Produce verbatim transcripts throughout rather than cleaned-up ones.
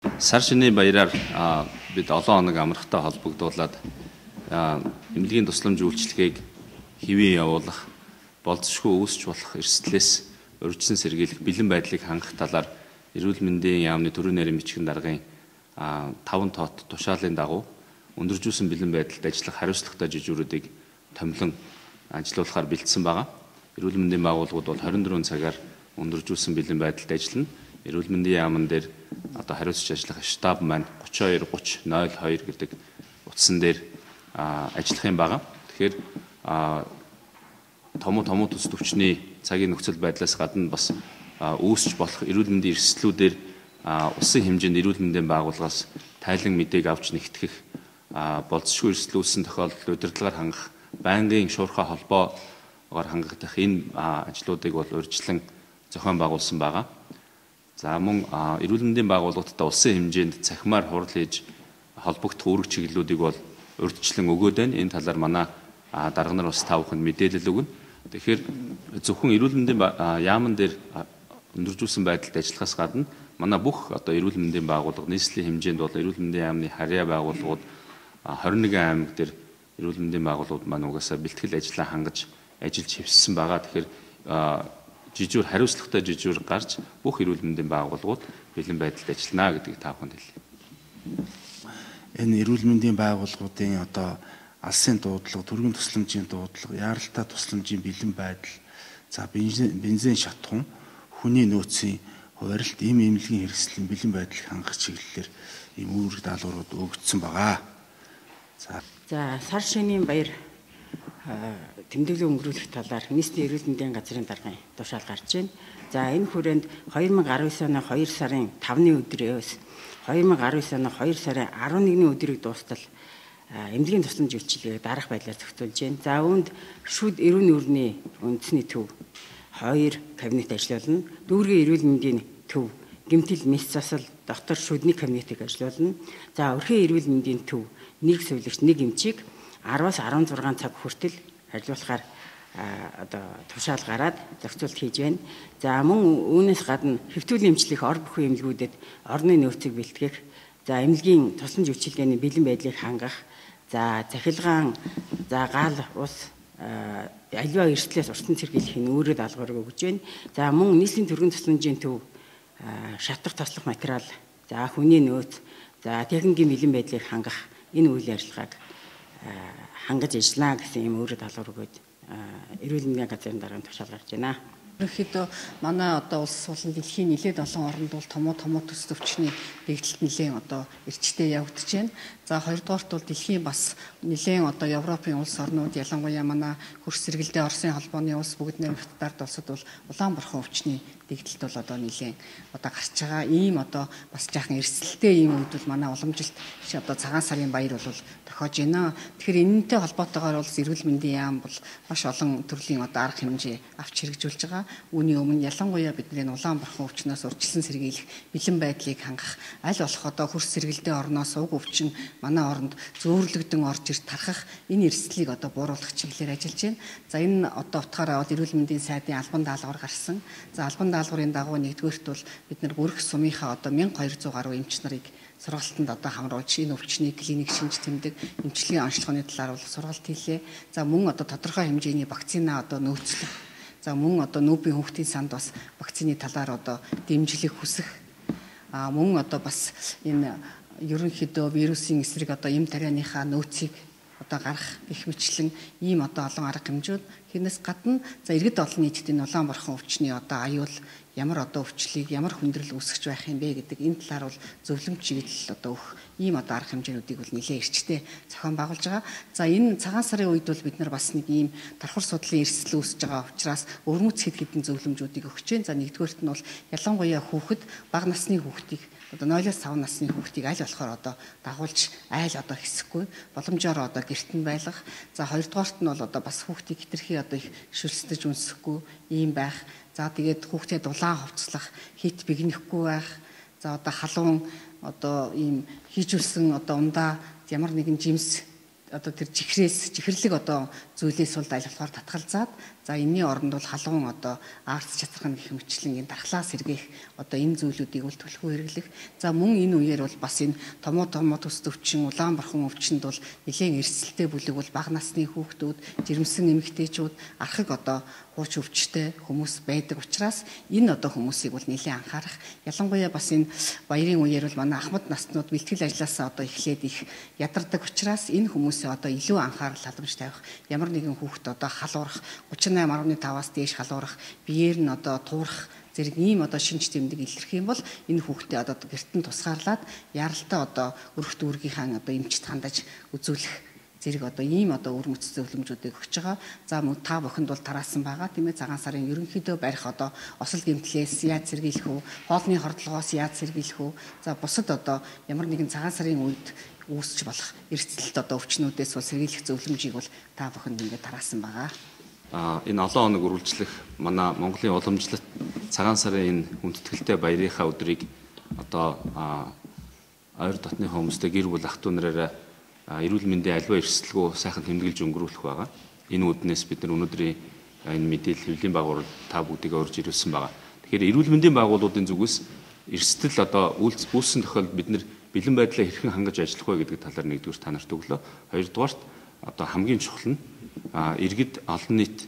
Сар шинийн баяраар бид олон хоног амрахтай холбогдуулаад эмнэлгийн тусламж үйлчилгээг хэвэн явуулах, болцсошгүй үүсч болох эрсдлээс урьдчилан сэргийлэх бэлэн байдлыг хангах талаар эрүүл мэндийн яамны төрийн нарийн бичгийн даргын таван тоот тушаалын дагуу өндөржүүлсэн бэлэн байдалд ажиллах хариуцлагатай жижүүрүүдийг томилон ажиллуулахаар бэлдсэн байгаа. Эрүүл мэндийн байгууллагууд бол хорин дөрвөн цагаар өндөржүүлсэн бэлэн байдалд ажиллана. Эрүүл мэндийн яамн дээр одоо хариуцж ажиллах штаб маань гучин хоёр гуч нуль хоёр гэдэг утсан дээр ажиллах юм байгаа. Тэгэхээр том том төс төвчний цагийн нөхцөл байдлаас гадна бас үүсч болох эрүүл мэндийн эрсдлүүдээр улсын хэмжээнд эрүүл мэндийн байгууллагаас тайлан мэдээг авч нэгтгэх, болцсошгүй эрсдэл үүссэн тохиолдолд удирдлагаар хангах, байнгын шуурхай холбоогоор хангагдах энэ ажлуудыг бол урьдчилан зохион байгуулсан байгаа. За мөн эрүүл мэндийн байгууллагуудад улсын хэмжээнд цахимаар хурал хийж холбогдох үүрэг чиглэлүүдийг бол урьдчилан өгөөд байна. Энэ талаар манай дарга нар бас та бүхэнд мэдээлэл өгнө. Тэгэхээр зөвхөн эрүүл мэндийн яамн дээр өндөржүүлсэн байдалд ажиллахаас гадна манай бүх одоо эрүүл мэндийн байгууллага нийслэлийн хэмжээнд бол эрүүл мэндийн яамны харьяа байгууллагууд хорин нэгэн аймаг дээр эрүүл мэндийн байгууллагууд маань угаасаа бэлтгэл ажлаа хангаж ажиллаж хэвссэн байгаа. Тэгэхээр жижүүр хариуцлагатай жижүүр гарч бүх эрүүл мэндийн байгууллагууд бэлэн байдалд ажиллана гэдгийг та бүхэнд хэлье. Энэ эрүүл мэндийн байгууллагуудын одоо алсын дуудлага, төрийн тусламжийн дуудлага, яаралтай тусламжийн бэлэн байдал, за бензин шатхуун, хүний нөөцийн хуваарилт, эм эмнэлгийн хэрэгслийн бэлэн байдлыг хангах чиглэлээр ийм үүрэг даалгаврууд өгөгдсөн байгаа. За за сар шинийн баяр тэмдэглэл өнгөрүүлэх талаар нийслэлийн эрүүл мэндийн газрын даргын тушаал гарч байна. За энэ хүрээнд хоёр мың арван девять оны хоёр сарын тавны өдрөөс хоёр мың арван девять оны хоёр сарын арван нэгний өдрийг дуустал эмнэлгийн тусламж үйлчилгээг дараах байдлаар зохицуулж байна. За үүнд шүд эрүүл нүрийн үндэсний төв хоёр кабинет ажиллуулна. Дүүргийн эрүүл мэндийн төв гэмтэл мэс засал доктор шүдний кабинетыг ажиллуулна. За өрхийн эрүүл мэндийн төв нэг сувилагч нэг эмчийг араваас арван зургаан цаг хүртэл ажиллуулахаар одоо тушаал гараад зохицуулт хийж байна. За мөн үүнээс гадна хэвтүүлийн эмчлэх ор бүхий эмнэлгүүдэд орны нөөцийг бэлтгэх, за эмнэлгийн тусламж үйлчилгээний бэлэн байдлыг хангах, за захилгаан, за гал ус аливаа эрсдлээс урьдчилан сэргийлэх нь үүрэг даалгаврыг өгж байна. За мөн нийслэлийн төрийн тусламжийн төв шатах тослох материал, за хүний нөөц, за техникийн бэлэн байдлыг хангах энэ үйл ажиллагааг хангаж ажиллана гэсэн юм өөрөд даалгавар өгөөд эрүүл мэндийн газрын даргын тушаал гарч байна. Ерөнхийдөө манай одоо улс болон дэлхийн нэлээд олон оронд бол томо томо төс төвчний дэгдэлт нэлээд одоо эрчтэй явагдаж байна. За хоёрдугаарт бол дэлхийн бас нэлээд одоо Европын улс орнууд ялангуяа манай хөрс сэргэлдээ Оросын холбооны улс бүгд нэмэгдэлд улсад бол улаанбархан өвчний дэгдэлт бол одоо нэлээд одоо гарч байгаа. Ийм одоо бас жаахан эрсдэлтэй ийм үед бол манай уламжилт одоо цагаан сарын баяр бол тохиож байна. Тэгэхээр энэнтэй холбоотойгоор бол эрүүл мэндийн яам бол маш олон төрлийн одоо арга хэмжээ авч хэрэгжүүлж байгаа. Үүний өмнө ялангуяа бидний улаанбархан өвчнөөс урьдчилан сэргийлэх бэлэн байдлыг хангах, аль болох одоо хөрс сэргэлдээ орноос уг өвчин манай оронд зөөрлөгдөн орж ирж тархах энэ эрсдлийг одоо бууруулах чиглэлээр ажиллаж байна. За энэ одоо утгаараа бол эрүүл мэндийн сайдын албан даалгавар гарсан. За албан даалгаврын дагуу нэгдүгээрт бол бид нар бүрх сумынхаа одоо мянга хоёр зуун гаруй эмч нарыг сургалтанд одоо хамруулж энэ өвчний клиник шинж тэмдэг эмчилгээний онцлогооны талаар бол сургалт хийлээ. За мөн одоо тодорхой хэмжээний вакцина одоо нөөцлөх, за мөн одоо нүүбийн хүүхдийн санд бас вакцины талаар одоо дэмжлэг хүсэх, а мөн одоо бас энэ ерөнхийдөө вирусын эсрэг одоо эм тарианыхаа нөөцийг одоо гарах гэх мэтлэн ийм одоо олон арга хэмжүүд хинээс гадна за иргэд олон нийтэд энэ улаанбархан өвчний одоо аюул ямар одоо өвчлийг ямар хүндрэл үүсгэж байх юм бэ гэдэг энэ талаар бол зөвлөмж чиглэл одоо өгөх ийм одоо арга хэмжээнүүдийг бол нэлээд эрчтэй зохион байгуулж байгаа. За энэ цагаан сарын үед бол бид нар бас нэг ийм давхар судлалын эрсдэл үүсэж байгаа учраас өвөрмөц хэд хэдэн зөвлөмжүүдийг өгч जैन. За нэгдүгээрт нь бол ялангуяа хүүхэд, бага насны хүүхдийг одоо нойлоос цав насны хүүхдийг аль болохоор одоо дагуулж айл одоо хэсэхгүй боломжоор одоо гэрт нь байлгах. За хоёрдугаарт нь бол одоо бас хүүхдийг хитрхи одоо их шүлсдэж үнсэхгүй ийм байх. За тэгээд хүүхдэд дулаан хувцлах, хит бигнэхгүй байх. За одоо халуун одоо ийм хийжүүлсэн одоо ундаа ямар нэгэн жимс одоо тэр чихрээс чихэрлэг одоо зүйлээс бол айлхлахаар татгалзаад за энэний оронд бол халуун одоо арц чацрах гэх мэтчлэн энэ дархлаа сэргээх одоо энэ зүйлүүдийг бол төлхөө хэрэглэх. За мөн энэ үеэр бол бас энэ томоо томоо төс төвчин Улаанбархан өвчнөд бол нэлээд эрсдэлтэй бүлэг бол бага насны хүүхдүүд, жирэмсэн эмэгтэйчүүд, архаг одоо хууч өвчтэй хүмүүс байдаг учраас энэ одоо хүмүүсийг бол нэлээд анхаарах. Ялангуяа бас энэ баярын үеэр бол манай ахмад наснууд бэлтгэл ажлаасаа одоо эхлээд их ядардаг учраас энэ хүмүүсээ одоо илүү анхаарал халамж тавих. Ямар нэгэн хүүхэд одоо халуурах гучин осем нугдугаар таваас дээш халуурах, биеэр нь одоо туурах зэрэг ийм одоо шинж тэмдэг илэрх юм бол энэ хүүхдээ одоо гэрт нь тусгаарлаад яралтай одоо өрх дүүргийнхаа одоо эмчт хандаж үзүүлэх зэрэг одоо ийм одоо үр мөц зөвлөмжүүдийг өгч байгаа. За мөн та бүхэнд бол тараасан байгаа тийм ээ, цагаан сарын ерөнхийдөө барих одоо осол гэмтлээс яаж сэргийлэх үү, хоолны хордлогоос яаж сэргийлэх үү, за бусад одоо ямар нэгэн цагаан сарын үед үүсч болох эрсдэлт одоо өвчнүүдээс бол сэргийлэх зөвлөмжийг бол та бүхэнд ингээд тараасан байгаа. А энэ олон хоног үргэлжлэх манай Монголын уламжлалт цагаан сарын энэ хүндэтгэлтэй баярынхаа өдрийг одоо ойр дотны хүмүүстэй гэр бүл ах дүү нараараа эрүүл мэндийн аливаа эрсдэлгүй сайхан тэмдэглэж өнгөрүүлэх байгаа. Энэ үднээс бид нар өнөөдрийн энэ мэдээлэл хэвлэлийн байгууллага та бүгдийг орж ирүүлсэн байгаа. Тэгэхээр эрүүл мэндийн байгууллагуудын зүгээс эрсдэл одоо үүссэн тохиолдолд бид нар бэлэн байдлаа хэрхэн хангаж ажиллах вэ гэдэг талаар нэгдүгээр та нарт өглөө. Хоёрдугаарт одоо хамгийн чухал нь иргэд олон нийт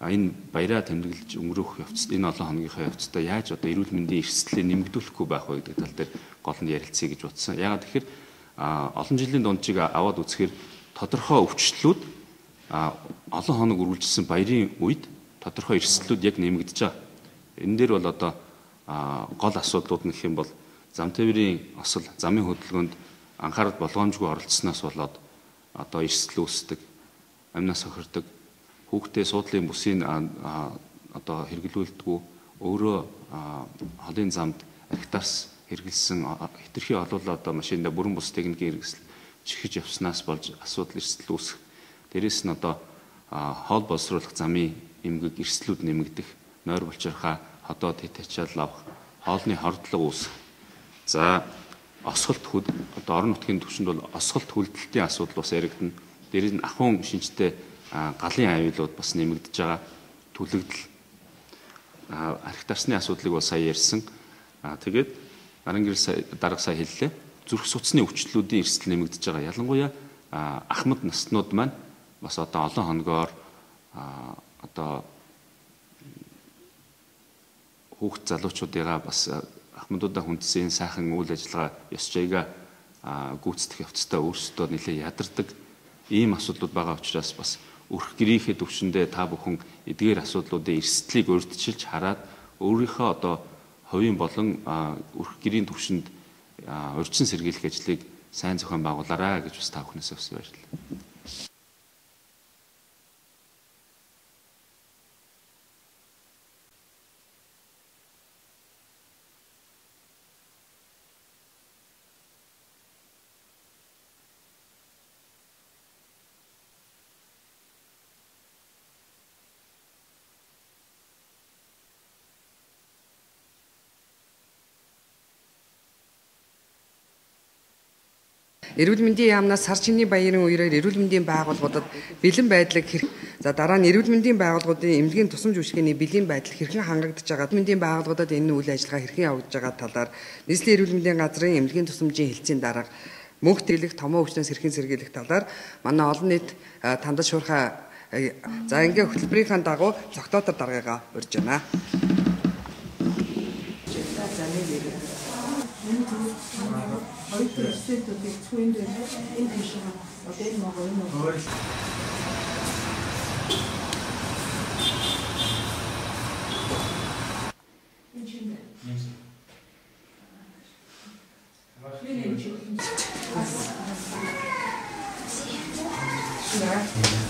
энэ баяраа тэмдэглэж өнгөрөх явцад энэ олон хоногийнхаа явцдаа яаж одоо эрүүл мэндийн эрсдлийг нэмэгдүүлэхгүй байх вэ гэдэг тал дээр гол нь ярилцъя гэж бодсон. Яагаад тэгэхээр олон жилийн дундчийг аваад үзэхээр тодорхой өвчлөлүүд олон хоног үргэлжилсэн баярын үед тодорхой эрсдлүүд яг нэмэгдэж байгаа. Энэ дээр бол одоо гол асуудлууд нь гэх юм бол зам тээврийн осол, замын хөдөлгөөнд анхаарал болгоомжгүй оролцсноос болоод одоо эрсдэл үүсдэг, амнаас хохирдог, хүүхдээ суудлын бүсийг одоо хэрэглүүлдэггүй, өөрөө холын замд архитаас хэрэгэлсэн хэтэрхий олуулаа одоо машинда бүрэн бус техникийн хэрэгсэл чихэж явснаас болж асуудал эрсдэл үүсэх. Дээрээс нь одоо хоол боловсруулах замын эмгэг эрсдлүүд нэмэгдэх, нойр булчирхаа ходоод хит ачаал авах, хоолны хордлого үүсэх. За осголт хүд одоо орон нутгийн түвшинд бол осголт хүлдэлтийн асуудал бас яригдана. Дээр нь ахуйн шинжтэй галын аюулууд бас нэмэгдэж байгаа. Түлэгдэл архитектурны асуудлыг бол сая ярьсан. Тэгээд арын гэрэл дарга сая хэллээ. Зүрх судасны өвчлөлүүдийн эрсдэл нэмэгдэж байгаа. Ялангуяа ахмад наснууд маань бас одоо олон хоногоор одоо хүүхд залуучуудыгаа бас ахмадуудаа хүндсэн сайхан үйл ажиллагаа ёс жаягаа гүйцэтгэх явцдаа өөрсдөө нэлээд ядардаг ийм асуудлууд байгаа учраас бас өрх гэрийнхээ төвшөндөө та бүхэн эдгээр асуудлуудын эрсдлийг урьдчилж хараад өөрийнхөө одоо хувийн болон өрх гэрийн төвшөнд урьдчилан сэргийлэх ажлыг сайн зохион байгуулаарай гэж бас та бүхнээс бас баярлалаа. Эрүүл мэндийн яамнаас сар шинийн баярын үеэр эрүүл мэндийн байгууллагуудад бэлэн байдлыг хэрэг за дараа нь эрүүл мэндийн байгууллагуудын эмнэлгийн тусламж үйлчилгээний бэлэн байдал хэрхэн хангагдж байгаа, мэндийн байгууллагуудад энэ үйл ажиллагаа хэрхэн явагдаж байгаа талаар нийслэлийн эрүүл мэндийн газрын эмнэлгийн тусламжийн хэлтсийн дарга мөнх тэлэх томоо өвчнөөс хэрхэн сэргийлэх талаар манай олон нийт тандаж шуурхай за ингээ хөтөлбөрийнхаа дагуу цогтоотор даргаагаа урьж байна. Heute sind die Zwillinge in die Schule, und den machen wir noch. Ja.